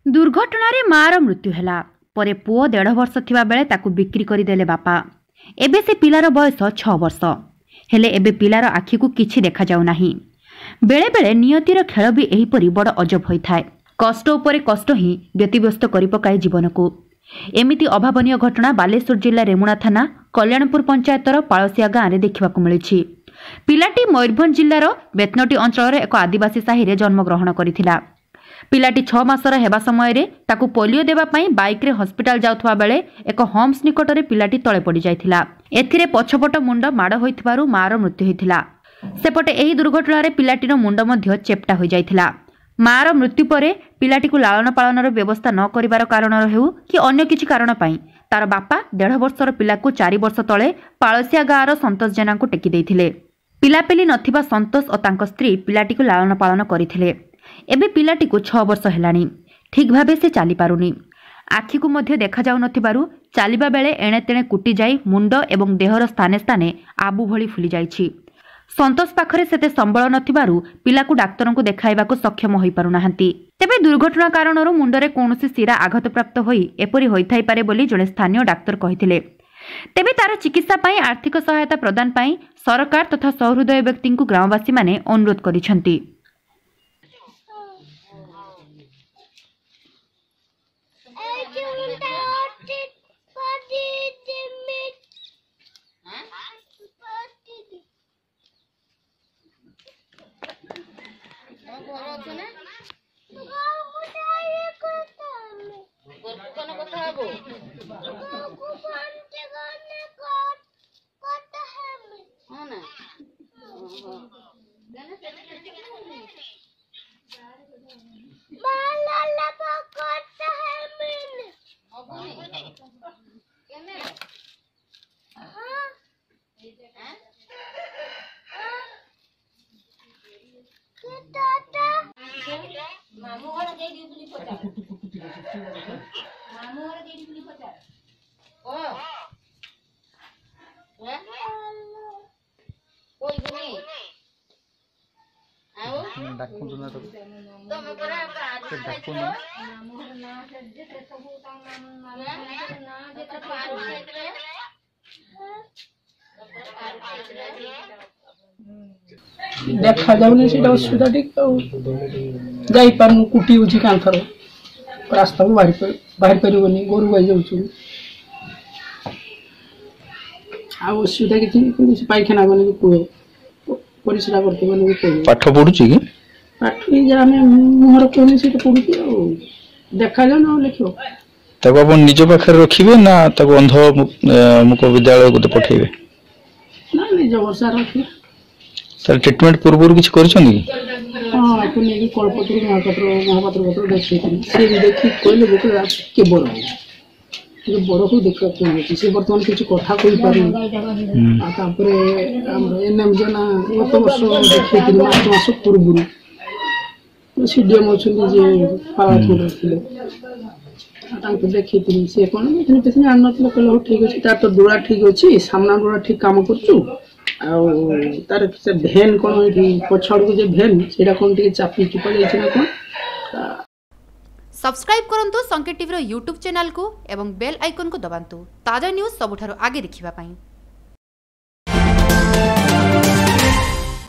ଦୁର୍ଘଟଣାରେ ମାଆର ମୃତ୍ୟୁ ହେଲା ପରେ ପୁଅ 1.5 ବର୍ଷ ଥିବା ବେଳେ ତାକୁ ବିକ୍ରି କରିଦେଲେ ବାପା। ଏବେ ସେ ପିଲାର ବୟସ 6 ବର୍ଷ। ହେଲେ ଏବେ ପିଲାର ଆଖିକୁ କିଛି ଦେଖାଯାଉ ନାହିଁ। ବେଳେବେଳେ ନିୟତିର ଖେଳ ବି ଏହିପରି ବଡ଼ ଅଜବ ହୋଇଥାଏ। କଷ୍ଟ ଉପରେ କଷ୍ଟ ହିଁ ବ୍ୟତିବ୍ୟସ୍ତ କରିପକାଏ ଜୀବନକୁ। ଏମିତି ଅଭାବନୀୟ ଘଟଣା ବାଲେଶ୍ୱର ଜିଲ୍ଲା ରେମୁଣା ଥାନା କଲ୍ୟାଣପୁର ପଞ୍ଚାୟତର ପାଳସିଆ ଗାଁରେ ଦେଖିବାକୁ ମିଳିଛି। ପିଲାଟି ମୟୂରଭଞ୍ଜ ଜିଲ୍ଲାର ବେତନଟୀ ଅଞ୍ଚଳର ଏକ ଆଦିବାସୀ ସାହିରେ ଜନ୍ମଗ୍ରହଣ କରିଥିଲା। ପିଲାଟି 6 ମାସର ହେବା ସମୟରେ ତାକୁ ପୋଲିଓ ଦେବା ପାଇଁ ବାଇକ୍ରେ ହସ୍ପିଟାଲ ଯାଉଥିବା ବେଳେ ଏକ ହମ୍ପସ ନିକଟରେ ପିଲାଟି ତଳେ ପଡ଼ିଯାଇଥିଲା। ଏଥିରେ ପଛପଟ ମୁଣ୍ଡ ମାଡ଼ ହୋଇଥିବାରୁ ମାଆର ମୃତ୍ୟୁ ହୋଇଥିଲା। ସେପଟେ ଏହି ଦୁର୍ଘଟଣାରେ ପିଲାଟିର ମୁଣ୍ଡ ମଧ୍ୟ ଚେପ୍ଟା ହୋଇଯାଇଥିଲା। ମାଆର ମୃତ୍ୟୁ ପରେ ପିଲାଟିକୁ ଲାଳନ ପାଳନର ବ୍ୟବସ୍ଥା ନ କରିବାର କାରଣରୁ ହେଉ କି ଅନ୍ୟ କିଛି କାରଣ ପାଇଁ ତାର ବାପା 1.5 ବର୍ଷର ପିଲାକୁ 4 ବର୍ଷ ତଳେ ପାଳସିଆ ଗାଁର ସନ୍ତୋଷ ଜେନାଙ୍କୁ ଟେକି ଦେଇଥିଲେ। ପିଲାପିଲି ନଥିବା ସନ୍ତୋଷ ଓ ତାଙ୍କ ସ୍ତ୍ରୀ ପିଲାଟିକୁ ଲାଳନ ପାଳନ କରିଥିଲେ। ଏବେ ପିଲାଟିକୁ 6 ବର୍ଷ ହେଲାଣି, ଠିକ୍ ଭାବେ ସେ ଚାଲିପାରୁନି। ଆଖିକୁ ମଧ୍ୟ ଦେଖାଯାଉନଥିବାରୁ ଚାଲିବା ବେଳେ ଏଣେ ତେଣେ କୁଟି ଯାଇ ମୁଣ୍ଡ ଏବଂ ଦେହର ସ୍ଥାନେ ସ୍ଥାନେ ଆବୁ ଭଳି ଫୁଲି ଯାଇଛି। ସନ୍ତୋଷ ପାଖରେ ସେତେ ସମ୍ବଳ ନଥିବାରୁ ପିଲାକୁ ଡାକ୍ତରଙ୍କୁ ଦେଖାଇବାକୁ ସକ୍ଷମ ହୋଇପାରୁନାହାନ୍ତି। ତେବେ ଦୁର୍ଘଟଣା କାରଣରୁ ମୁଣ୍ଡରେ କୌଣସି ଶିରା ଆଘାତପ୍ରାପ୍ତ ହୋଇ ଏପରି ହୋଇଥାଇପାରେ ବୋଲି ଜଣେ ସ୍ଥାନୀୟ ଡାକ୍ତର କହିଥିଲେ। ତେବେ ତାର ଚିକିତ୍ସା ପାଇଁ ଆର୍ଥିକ ସହାୟତା ପ୍ରଦାନ ପାଇଁ ସରକାର ତଥା ସହୃଦୟ ବ୍ୟକ୍ତିଙ୍କୁ ଗ୍ରାମବାସୀମାନେ ଅନୁରୋଧ କରିଛନ୍ତି। ଡାକନ୍ତୁ ନା ତାକୁ, ସେ ଡାକୁନି। ଦେଖାଯାଉନି, ସେଇଟା ଅସୁବିଧା ଟିକେ। ଆଉ ଯାଇପାରୁନୁ, କୁଟି ହେଉଛି କାନ୍ଥର, ରାସ୍ତାକୁ ବାହାରି ବାହାରି ପାରିବନି, ଗୋରୁ ଗାଈ ଯାଉଛୁ। ଆଉ ଅସୁବିଧା କିଛି ନାହିଁ, କିନ୍ତୁ ସେ ପାଇଖାନା ଗଲେ ବି କୁହେ, ପରିସ୍ରା କରତେ ଗଲେ ବି କୁହେ। ପାଠ ପଢୁଛି କି? ପାଠ ଏଇ ଯାହା ଆମେ ମୁହଁରେ କହୁନି, ସେଇଟା ପଢୁଛି। ଆଉ ଦେଖାଯାଉନି, ଆଉ ଲେଖିବ? ତାକୁ ଆପଣ ନିଜ ପାଖରେ ରଖିବେ ନା ତାକୁ ଅନ୍ଧ ମୁକ ବିଦ୍ୟାଳୟ ଗୋଟେ ପଠେଇବେ? ନା, ନିଜ ଭରସା ରଖିବା। ତାର ଟ୍ରିଟମେଣ୍ଟ ପୂର୍ବରୁ କିଛି କରିଛନ୍ତି କି? ହଁ, ଆକୁ ନେଇକି କଳପତ୍ରୁ ମହାପାତ୍ର ପତ୍ର ଦେଖେଇଥିଲି। ସେ ବି ଦେଖିକି କହିଲେ, ଗୋଟେ ଟିକେ ବଡ଼ ହଉ, ଟିକେ ବଡ଼ ହଉ, ଦେଖିବା କ'ଣ ହେଉଛି। ସେ ବର୍ତ୍ତମାନ କିଛି କଥା କହିପାରୁନି। ଆଉ ତାପରେ ଆମର ଏନ୍ ଏମ୍ ଜେନା ଗତ ବର୍ଷ ଦେଖେଇଥିଲି, ମାର୍ଚ୍ଚ ମାସ ପୂର୍ବରୁ। ସି ଡି ଏମ୍ ଅଛନ୍ତି ଯିଏ ପାରାଦୀପରେ ଥିଲେ, ଆଉ ତାଙ୍କୁ ଦେଖେଇଥିଲି। ସେ କ'ଣ ମେସିନ୍ ଫେସିନ୍ ଆଣିନଥିଲେ। କହିଲେ ହଉ ଠିକ୍ ଅଛି, ତାର ତ ଡୋଳା ଠିକ୍ ଅଛି, ସାମ୍ନା ଡୋଳା ଠିକ୍ କାମ କରୁଛୁ। ଆଉ ତାର ସେ ଭେନ୍ କ'ଣ ଏଇଠି ପଛ ଆଡ଼କୁ ଯେ ଭେନ୍, ସେଇଟା କ'ଣ ଟିକେ ଚାପି ଚୁପା ଯାଇଛି ନା କ'ଣ। ସବସ୍କ୍ରାଇବ୍ କରନ୍ତୁ ସଂକେତ ଟିଭିର ୟୁଟ୍ୟୁବ୍ ଚ୍ୟାନେଲକୁ ଏବଂ ବେଲ୍ ଆଇକନ୍କୁ ଦବାନ୍ତୁ ତାଜା ନ୍ୟୁଜ୍ ସବୁଠାରୁ ଆଗେ ଦେଖିବା ପାଇଁ।